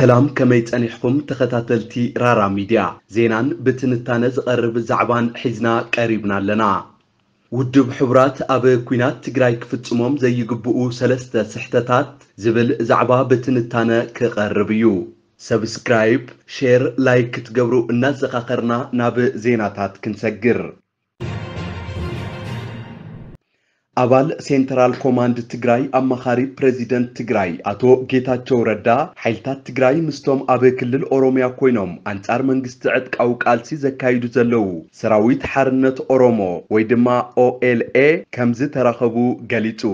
ሰላም፣ ከመይ ጸኒሕኩም ተኸታተልቲ ራራ ሚድያ? ዜናን ብትንታነ ዝቐርብ ዛዕባን ሒዝና ቀሪብና ኣለና። ውድብ ሕቡራት ኣብ ኲናት ትግራይ ክፍጽሞም ዘይግብኡ ሰለስተ ስሕተታት ዝብል ዛዕባ ብትንታነ ክቐርብ እዩ። ሰብስክራይብ፣ ሼር፣ ላይክ ክትገብሩ እናዘኻኸርና ናብ ዜናታት ክንሰግር። ኣባል ሴንትራል ኮማንድ ትግራይ ኣማኻሪ ፕሬዚደንት ትግራይ ኣቶ ጌታቸው ረዳ፣ ሓይልታት ትግራይ ምስቶም ኣብ ክልል ኦሮሚያ ኮይኖም ኣንጻር መንግስቲ ዕጥቃዊ ቃልሲ ዘካይዱ ዘለዉ ሰራዊት ሓርነት ኦሮሞ ወይ ድማ ኦኤልኤ ከም ዝተራኸቡ ገሊጹ።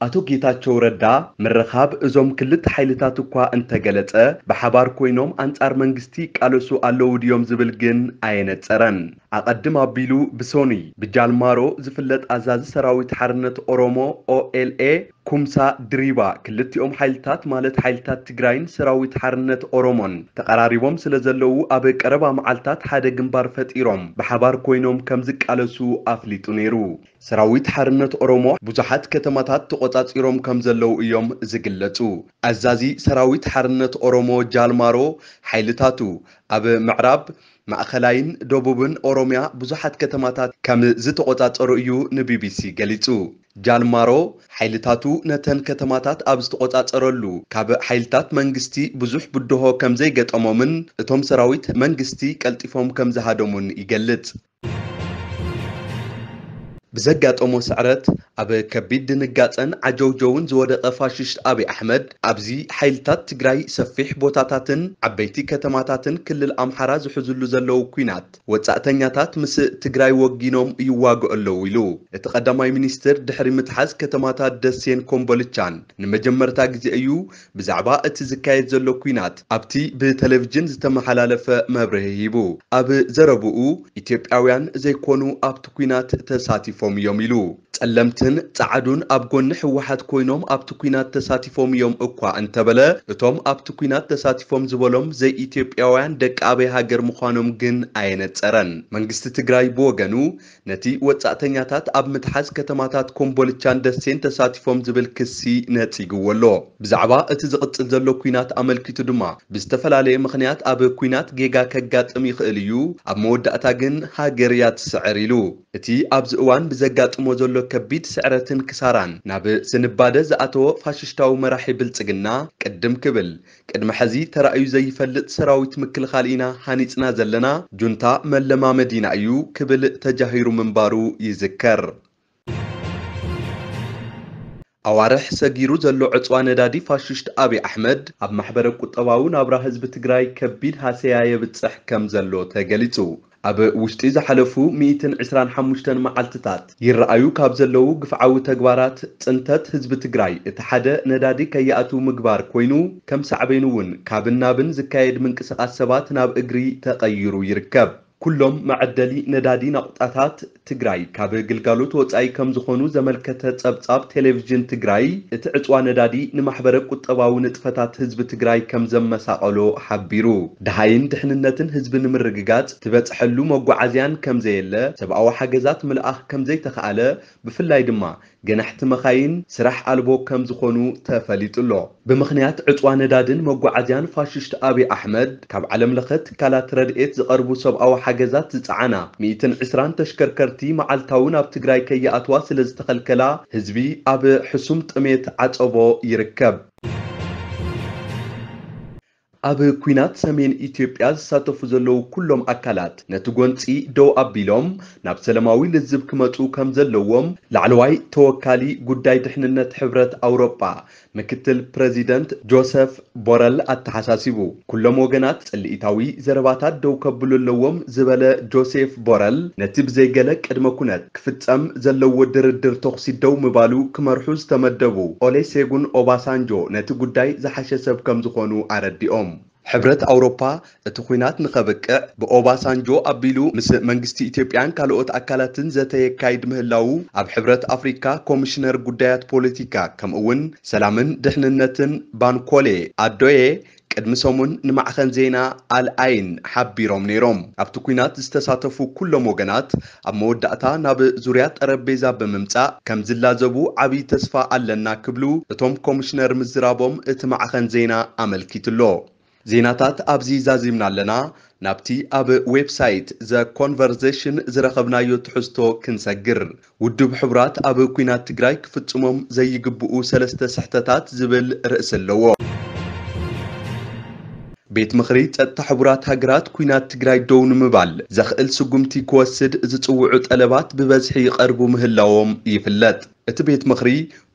ኣቶ ጌታቸው ረዳ፣ ምርኻብ እዞም ክልተ ሓይልታት እኳ እንተገለጸ፣ ብሓባር ኮይኖም ኣንጻር መንግስቲ ይቃለሱ ኣለዉ ድዮም ዝብል ግን ኣየነጸረን። ኣቐድም ኣቢሉ ብሶኒ ብጃልማሮ ዝፍለጥ ኣዛዚ ሰራዊት ሓርነት ኦሮሞ ኦኤልኤ ኩምሳ ድሪባ፣ ክልቲኦም ሓይልታት ማለት ሓይልታት ትግራይን ሰራዊት ሓርነት ኦሮሞን ተቐራሪቦም ስለ ዘለዉ ኣብ ቀረባ መዓልታት ሓደ ግንባር ፈጢሮም ብሓባር ኮይኖም ከም ዝቃለሱ ኣፍሊጡ ነይሩ። ሰራዊት ሓርነት ኦሮሞ ብዙሓት ከተማታት ተቖጻጺሮም ከም ዘለዉ እዮም ዝግለጹ። ኣዛዚ ሰራዊት ሓርነት ኦሮሞ ጃልማሮ፣ ሓይልታቱ ኣብ ምዕራብ፣ ማእኸላይን ደቡብን ኦሮሚያ ብዙሓት ከተማታት ከም ዝተቖጻጸሩ እዩ ንቢቢሲ ገሊጹ። ጃልማሮ፣ ሓይልታቱ ነተን ከተማታት ኣብ ዝተቖጻጸረሉ፣ ካብ ሓይልታት መንግስቲ ብዙሕ ብድሆ ከም ዘይገጠሞምን እቶም ሰራዊት መንግስቲ ቀልጢፎም ከም ዝሃደሙን ይገልጽ። ብዘጋጠሞ ስዕረት ኣብ ከቢድ ድንጋጸን ዓጀውጀውን ዝወደቐ ፋሽስት ኣብይ ኣሕመድ፣ ኣብዚ ሓይልታት ትግራይ ሰፊሕ ቦታታትን ዓበይቲ ከተማታትን ክልል ኣምሓራ ዝሕዝሉ ዘለዉ ኲናት፣ ወጻእተኛታት ምስ ትግራይ ወጊኖም ይዋግዑ ኣለዉ ኢሉ። እቲ ቀዳማይ ሚኒስትር ድሕሪ ምትሓዝ ከተማታት ደሴን ኮምቦልቻን ንመጀመርታ ግዜ እዩ ብዛዕባ እቲ ዝካየድ ዘሎ ኲናት ኣብቲ ብቴሌቪዥን ዝተመሓላለፈ መብርሂ ሂቡ። ኣብ ዘረብኡ፣ ኢትዮጵያውያን ዘይኮኑ ኣብቲ ኲናት ተሳቲፎም እዮም ኢሉ። ጸለምትን ጸዓዱን ኣብ ጎኒ ህወሓት ኮይኖም ኣብቲ ኲናት ተሳቲፎም እዮም እኳ እንተበለ፣ እቶም ኣብቲ ኲናት ተሳቲፎም ዝበሎም ዘይኢትዮጵያውያን ደቂ ኣበይ ሃገር ምዃኖም ግን ኣየነጸረን። መንግስቲ ትግራይ ብወገኑ፣ ነቲ ወጻእተኛታት ኣብ ምትሓዝ ከተማታት ኮምቦልቻን ደሴን ተሳቲፎም ዝብል ክሲ ነጺግዎ ኣሎ። ብዛዕባ እቲ ዝቕጽል ዘሎ ኲናት ኣመልኪቱ ድማ፣ ብዝተፈላለየ ምኽንያት ኣብ ኲናት ጌጋ ከጋጥም ይኽእል እዩ፣ ኣብ መወዳእታ ግን ሃገር እያ ትስዕር ኢሉ። እቲ ኣብዚ እዋን ብዘጋጥሞ ዘሎ ከቢድ ስዕረትን ክሳራን ናብ ስንባደ ዝኣተወ ፋሽስታዊ መራሒ ብልጽግና፣ ቅድም ክብል፣ ቅድሚ ሕዚ ተራእዩ ዘይፈልጥ ሰራዊት ምክልኻል ኢና ሃኒጽና ዘለና፣ ጁንታ መለማመዲና እዩ ክብል ተጃሂሩ ምንባሩ ይዝከር። ኣዋርሕ ሰጊሩ ዘሎ ዕጽዋ ነዳዲ ፋሽስት ኣብይ ኣሕመድ ኣብ ማሕበረ ቁጠባዊ ናብራ ህዝቢ ትግራይ ከቢድ ሃሰያ የብጽሕ ከም ዘሎ ተገሊጹ። ኣብ ውሽጢ ዝሓለፉ ሚእትን ዕስራን ሓሙሽተን መዓልትታት ይረኣዩ ካብ ዘለዉ ግፍዓዊ ተግባራት ጽንተት ህዝቢ ትግራይ እቲ ሓደ ነዳዲ ከይኣትው ምግባር ኮይኑ፣ ከም ሳዕቤኑ እውን ካብን ናብን ዝካየድ ምንቅስቓስ ሰባት ናብ እግሪ ተቐይሩ ይርከብ። ኩሎም መዐደሊ ነዳዲ ናቑጣታት ትግራይ ካብ ግልጋሎት ወጻኢ ከም ዝኾኑ ዘመልከተ ጸብጻብ ቴሌቪዥን ትግራይ፣ እቲ ዕጽዋ ነዳዲ ንማሕበረ ቁጠባዊ ንጥፈታት ህዝቢ ትግራይ ከም ዘመሳቐሎ ሓቢሩ። ደሃይን ድሕንነትን ህዝቢ ንምርግጋጽ ትበጽሐሉ መጓዓዝያን ከም ዘየለ፣ ሰብኣዊ ሓገዛት ምልኣኽ ከም ዘይተኻእለ፣ ብፍላይ ድማ ገናሕቲ መኻይን ስራሕ ኣልቦ ከም ዝኾኑ ተፈሊጡ ኣሎ። ብምኽንያት ዕጽዋ ነዳድን መጓዓዝያን ፋሽስት ኣብይ ኣሕመድ ካብ ዓለም ለኸ ትካላት ረድኤት ዝቐርቡ ሰብኣዊ ሓገዛት ዝጸዓና ሚእትን ዕስራን ተሽከርከርቲ መዓልታዊ ናብ ትግራይ ከይኣትዋ ስለ ዝተኸልከላ ህዝቢ ኣብ ሕሱም ጥሜት ዓጸቦ ይርከብ። ኣብ ኲናት ሰሜን ኢትዮጵያ ዝሳተፉ ዘለዉ ኩሎም ኣካላት ነቲ ጎንጺ ደው ኣቢሎም ናብ ሰላማዊ ልዝብ ክመጹ ከም ዘለዎም ላዕለዋይ ተወካሊ ጉዳይ ድሕንነት ሕብረት ኣውሮጳ ምክትል ፕረዚደንት ጆሰፍ ቦረል ኣተሓሳሲቡ። ኩሎም ወገናት ጽልኢታዊ ዘረባታት ደው ከብሉ ኣለዎም ዝበለ ጆሴፍ ቦረል፣ ነቲ ብዘይገለ ቅድመ ኩነት ክፍጸም ዘለዎ ድርድር ተኹሲ ደው ምባሉ ክመርሑ ዝተመደቡ ኦሌሴጉን ኦባሳንጆ ነቲ ጉዳይ ዝሓሸ ሰብ ከም ዝኾኑ ኣረዲኦም። ሕብረት ኣውሮፓ እቲ ኲናት ንኸብቅዕ ብኦባሳንጆ ኣቢሉ ምስ መንግስቲ ኢትዮጵያን ካልኦት ኣካላትን ዘተ የካይድ ምህላዉ ኣብ ሕብረት ኣፍሪካ ኮሚሽነር ጉዳያት ፖለቲካ ከምኡ'ውን ሰላምን ድሕንነትን ባንኮሌ ኣዶዬ ቅድሚ ሰሙን ንማዕኸን ዜና ኣል ኣይን ሓቢሮም ነይሮም። ኣብቲ ኲናት ዝተሳተፉ ኩሎም ወገናት ኣብ መወዳእታ ናብ ዙርያ ጠረጴዛ ብምምጻእ ከም ዝላዘቡ ዓብዪ ተስፋ ኣለና ክብሉ እቶም ኮሚሽነር ምዝራቦም እቲ ማዕኸን ዜና ኣመልኪቱ'ሎ። ዜናታት ኣብዚ ዛዚምና ኣለና። ናብቲ ኣብ ዌብሳይት ዘ ኮንቨርዜሽን ዝረኸብናዮ ትሕዝቶ ክንሰግር። ውድብ ሕቡራት ኣብ ኲናት ትግራይ ክፍጽሞም ዘይግብኡ ሰለስተ ስሕተታት ዝብል ርእሲ ኣለዎ። ቤት ምኽሪ ጸጥታ ሕቡራት ሃገራት ኲናት ትግራይ ደው ንምባል ዘኽእል ስጉምቲ ክወስድ ዝጽውዑ ጠለባት ብበዝሒ ይቐርቡ ምህላዎም ይፍለጥ። እቲ ቤት ምኽሪ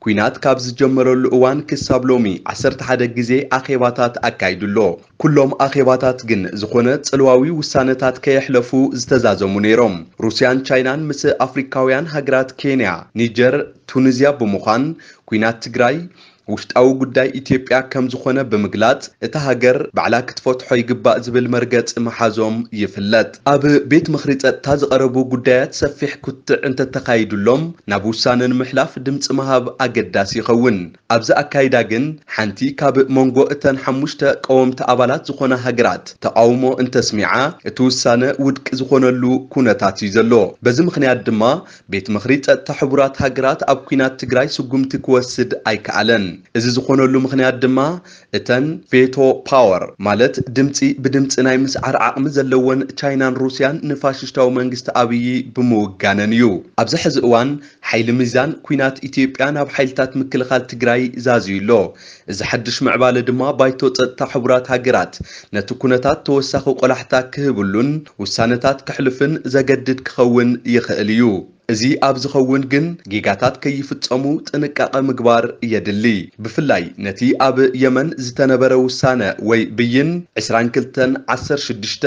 ኲናት ካብ ዝጀመረሉ እዋን ክሳብ ሎሚ ዓሰርተ ሓደ ግዜ ኣኼባታት ኣካይዱ ኣሎ። ኩሎም ኣኼባታት ግን ዝኾነ ጽልዋዊ ውሳነታት ከየሕለፉ ዝተዛዘሙ ነይሮም። ሩስያን ቻይናን ምስ ኣፍሪካውያን ሃገራት ኬንያ፣ ኒጀር፣ ቱኒዝያ ብምዃን ኲናት ትግራይ ውሽጣዊ ጉዳይ ኢትዮጵያ ከም ዝኾነ ብምግላጽ፣ እታ ሃገር ባዕላ ክትፈትሖ ይግባእ ዝብል መርገጺ ምሓዞም ይፍለጥ። ኣብ ቤት ምኽሪ ጸጥታ ዝቐረቡ ጉዳያት ሰፊሕ ክትዕ እንተተኻይዱሎም፣ ናብ ውሳነ ንምሕላፍ ድምጺ ምሃብ ኣገዳሲ ይኸውን። ኣብዚ ኣካይዳ ግን፣ ሓንቲ ካብ መንጎ እተን ሓሙሽተ ቀወምቲ ኣባላት ዝኾና ሃገራት ተቓውሞ እንተስሚዓ፣ እቲ ውሳነ ውድቂ ዝኾነሉ ኩነታት እዩ ዘሎ። በዚ ምኽንያት ድማ፣ ቤት ምኽሪ ጸጥታ ሕቡራት ሃገራት ኣብ ኲናት ትግራይ ስጉምቲ ክወስድ ኣይከኣለን። እዚ ዝኾነሉ ምኽንያት ድማ፣ እተን ቬቶ ፓወር፣ ማለት ድምጺ ብድምጺ ናይ ምስዓር ዓቕሚ ዘለወን ቻይናን ሩስያን ንፋሽስታዊ መንግስቲ ኣብዪ ብምውጋነን እዩ። ኣብዚ ሕዚ እዋን፣ ሓይሊ ሚዛን ኲናት ኢትዮጵያ ናብ ሓይልታት ምክልኻል ትግራይ ዛዝዩ ኣሎ። እዚ ሓድሽ ምዕባለ ድማ፣ ባይቶ ጸጥታ ሕቡራት ሃገራት ነቲ ኩነታት ተወሳኺ ቆላሕታ ክህብሉን ውሳነታት ክሕልፍን ዘገድድ ክኸውን ይኽእል እዩ። እዚ ኣብ ዝኸውን ግን፣ ጌጋታት ከይፍጸሙ ጥንቃቐ ምግባር የድሊ። ብፍላይ ነቲ ኣብ የመን ዝተነበረ ውሳነ ወይ ብይን ዕስራን ክልተን ዓሰርተ ሽዱሽተ፣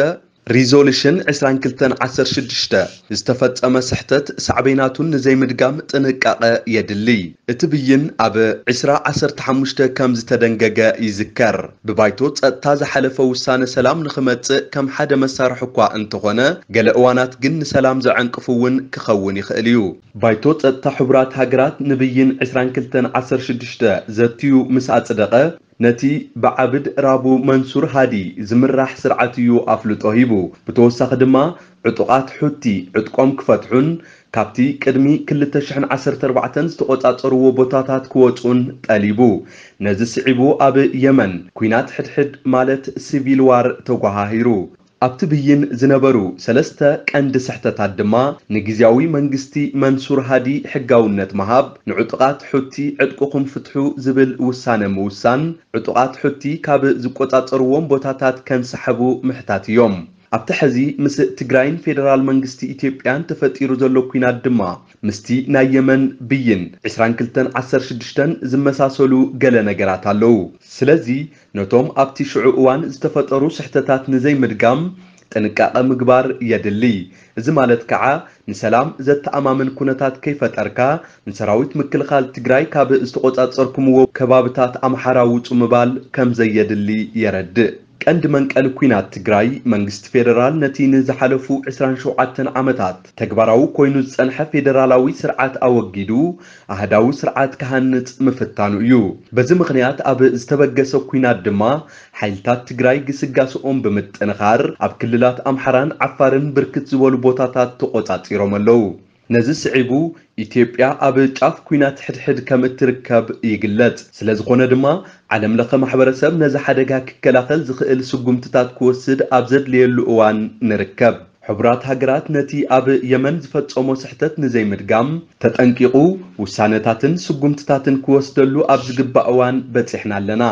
ሪዞሉሽን ዕስራን ክልተን ዓሰርተ ሽዱሽተ፣ ዝተፈጸመ ስሕተት ሳዕቤናቱን ንዘይምድጋም ጥንቃቐ የድሊ። እቲ ብይን ኣብ ዕስራ ዓሰርተ ሓሙሽተ ከም ዝተደንገገ ይዝከር። ብባይቶ ጸጥታ ዝሓለፈ ውሳነ ሰላም ንኽመጽእ ከም ሓደ መሳርሒ እኳ እንተኾነ፣ ገለ እዋናት ግን ንሰላም ዘዐንቅፍ እውን ክኸውን ይኽእል እዩ። ባይቶ ጸጥታ ሕቡራት ሃገራት ንብይን ዕስራን ክልተን ዓሰርተ ሽዱሽተ ዘትዩ ምስ ኣጽደቐ፣ ነቲ ብዓብድ ራቡ መንሱር ሃዲ ዝምራሕ ስርዓት እዩ ኣፍልጦ ሂቡ። ብተወሳኺ ድማ፣ ዕጡቓት ሑቲ ዕጥቆም ክፈትሑን ካብቲ ቅድሚ ክልተ ሽሕን ዓሰርተ ኣርባዕተን ዝተቖጻጸርዎ ቦታታት ክወጹን ጠሊቡ። ነዚ ስዒቡ፣ ኣብ የመን ኲናት ሕድሕድ፣ ማለት ሲቪል ዋር፣ ተጓሃሂሩ። ኣብቲ ብይን ዝነበሩ ሰለስተ ቀንዲ ስሕተታት ድማ፣ ንግዝያዊ መንግስቲ መንሱር ሃዲ ሕጋውነት ምሃብ፣ ንዕጡቓት ሑቲ ዕጥቅኹም ፍትሑ ዝብል ውሳነ ምውሳን፣ ዕጡቓት ሑቲ ካብ ዝቆጻጸርዎም ቦታታት ከንሰሓቡ ምሕታት እዮም። ኣብቲ ሕዚ ምስ ትግራይን ፌደራል መንግስቲ ኢትዮጵያን ተፈጢሩ ዘሎ ኲናት ድማ፣ ምስቲ ናይ የመን ብይን ዕስራን ክልተን ዓሰርተ ሽዱሽተን ዝመሳሰሉ ገለ ነገራት ኣለዉ። ስለዚ፣ ነቶም ኣብቲ ሽዑ እዋን ዝተፈጠሩ ስሕተታት ንዘይምድጋም ጥንቃቐ ምግባር የድሊ። እዚ ማለት ከዓ፣ ንሰላም ዘተኣማምን ኩነታት ከይፈጠርካ፣ ንሰራዊት ምክልኻል ትግራይ ካብ ዝተቖጻጸርኩምዎ ከባብታት ኣምሓራ ውጹ ምባል ከም ዘየድሊ የረድእ። ቀንዲ መንቀሊ ኲናት ትግራይ፣ መንግስቲ ፌደራል ነቲ ንዝሓለፉ ዕስራን ሸውዓተን ዓመታት ተግባራዊ ኮይኑ ዝጸንሐ ፌደራላዊ ስርዓት ኣወጊዱ፣ ኣህዳዊ ስርዓት ክሃንጽ ምፍታኑ እዩ። በዚ ምኽንያት ኣብ ዝተበገሰ ኲናት ድማ፣ ሓይልታት ትግራይ ግስጋስኦም ብምጥንኻር፣ ኣብ ክልላት ኣምሓራን ዓፋርን ብርክት ዝበሉ ቦታታት ተቖጻጺሮም ኣለዉ። ነዚ ስዒቡ፣ ኢትዮጵያ ኣብ ጫፍ ኲናት ሕድሕድ ከም እትርከብ ይግለጽ። ስለ ዝኾነ ድማ፣ ዓለም ለኸ ማሕበረሰብ ነዚ ሓደጋ ክከላኸል ዝኽእል ስጉምትታት ክወስድ ኣብ ዘድልየሉ እዋን ንርከብ። ሕቡራት ሃገራት ነቲ ኣብ የመን ዝፈጸሞ ስሕተት ንዘይምድጋም፣ ተጠንቂቑ ውሳነታትን ስጉምትታትን ክወስደሉ ኣብ ዝግባእ እዋን በጺሕና ኣለና።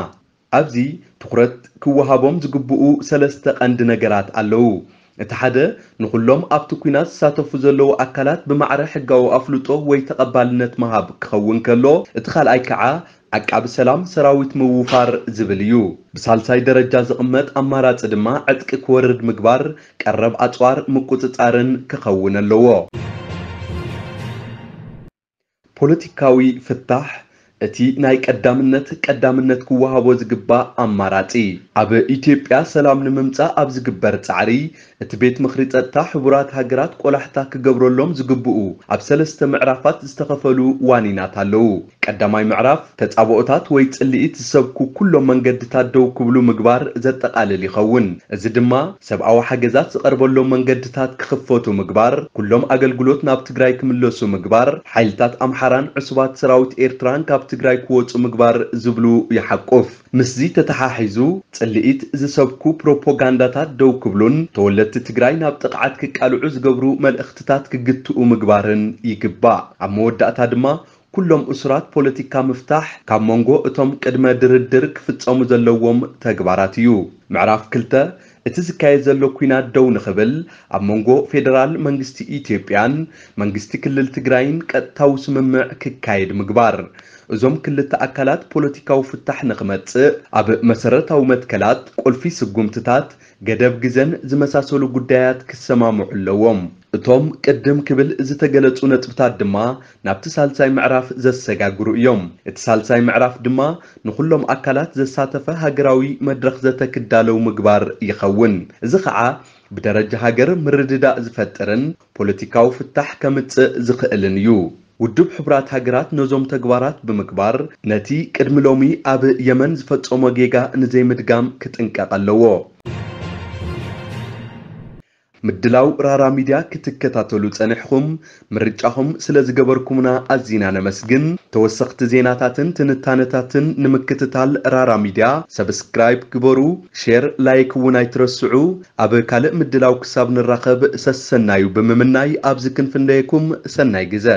ኣብዚ ትኹረት ክወሃቦም ዝግብኡ ሰለስተ ቀንዲ ነገራት ኣለዉ። እቲ ሓደ፣ ንኹሎም ኣብቲ ኲናት ዝሳተፉ ዘለዉ ኣካላት ብማዕረ ሕጋዊ ኣፍልጦ ወይ ተቐባልነት ምሃብ ክኸውን ከሎ፣ እቲ ካልኣይ ከዓ፣ ዓቃቢ ሰላም ሰራዊት ምውፋር ዝብል እዩ። ብሳልሳይ ደረጃ ዝቕመጥ ኣማራጺ ድማ፣ ዕጥቂ ክወርድ ምግባር፣ ቀረብ ኣጽዋር ምቁጽጻርን ክኸውን ኣለዎ። ፖለቲካዊ ፍታሕ፣ እቲ ናይ ቀዳምነት ቀዳምነት ክወሃቦ ዝግባእ ኣማራጺ። ኣብ ኢትዮጵያ ሰላም ንምምጻእ ኣብ ዝግበር ጻዕሪ፣ እቲ ቤት ምኽሪ ጸጥታ ሕቡራት ሃገራት ቆላሕታ ክገብረሎም ዝግብኡ ኣብ ሰለስተ ምዕራፋት ዝተኸፈሉ ዋኒናት ኣለዉ። ቀዳማይ ምዕራፍ፣ ተጻብኦታት ወይ ጽልኢት ዝሰብኩ ኩሎም መንገድታት ደው ክብሉ ምግባር ዘጠቓልል ይኸውን። እዚ ድማ፣ ሰብኣዊ ሓገዛት ዝቐርበሎም መንገድታት ክኽፈቱ ምግባር፣ ኩሎም ኣገልግሎት ናብ ትግራይ ክምለሱ ምግባር፣ ሓይልታት ኣምሓራን ዕሱባት ሰራዊት ኤርትራን ካብቲ ትግራይ ክወፁ ምግባር ዝብሉ ይሓቁፍ። ምስዚ ተተሓሒዙ፣ ፅልኢት ዝሰብኩ ፕሮፓጋንዳታት ደው ክብሉን ተወለድቲ ትግራይ ናብ ጥቕዓት ክቃልዑ ዝገብሩ መልእኽትታት ክግትኡ ምግባርን ይግባእ። ኣብ መወዳእታ ድማ፣ ኩሎም እሱራት ፖለቲካ ምፍታሕ ካብ መንጎ እቶም ቅድመ ድርድር ክፍጸሙ ዘለዎም ተግባራት እዩ። ምዕራፍ ክልተ፣ እቲ ዝካየድ ዘሎ ኲናት ደው ንኽብል፣ ኣብ መንጎ ፌደራል መንግስቲ ኢትዮጵያን መንግስቲ ክልል ትግራይን ቀጥታዊ ስምምዕ ክካየድ ምግባር። እዞም ክልተ ኣካላት ፖለቲካዊ ፍታሕ ንኽመጽእ፣ ኣብ መሰረታዊ መትከላት፣ ቁልፊ ስጉምትታት፣ ገደብ ግዘን ዝመሳሰሉ ጉዳያት ክሰማምዑ ኣለዎም። እቶም ቅድም ክብል ዝተገለጹ ነጥብታት ድማ ናብቲ ሳልሳይ ምዕራፍ ዘሰጋግሩ እዮም። እቲ ሳልሳይ ምዕራፍ ድማ ንኹሎም ኣካላት ዘሳተፈ ሃገራዊ መድረኽ ዘተ ክዳለው ምግባር ይኸውን። እዚ ኸዓ ብደረጃ ሃገር ምርድዳእ ዝፈጥርን ፖለቲካዊ ፍታሕ ከምጽእ ዝኽእልን እዩ። ውድብ ሕቡራት ሃገራት ነዞም ተግባራት ብምግባር፣ ነቲ ቅድሚ ሎሚ ኣብ የመን ዝፈጸሞ ጌጋ ንዘይምድጋም ክጥንቀቕ ኣለዎ። ምድላው ራራ ሚድያ ክትከታተሉ ጸኒሕኹም፣ ምርጫኹም ስለ ዝገበርኩምና ኣዚና ነመስግን። ተወሰኽቲ ዜናታትን ትንታነታትን ንምክትታል ራራ ሚድያ ሰብስክራይብ ግበሩ፣ ሼር፣ ላይክ እውን ኣይትረስዑ። ኣብ ካልእ ምድላው ክሳብ ንራኸብ ሰሰናዩ ብምምናይ ኣብዚ ክንፍንደየኩም፣ ሰናይ ግዘ።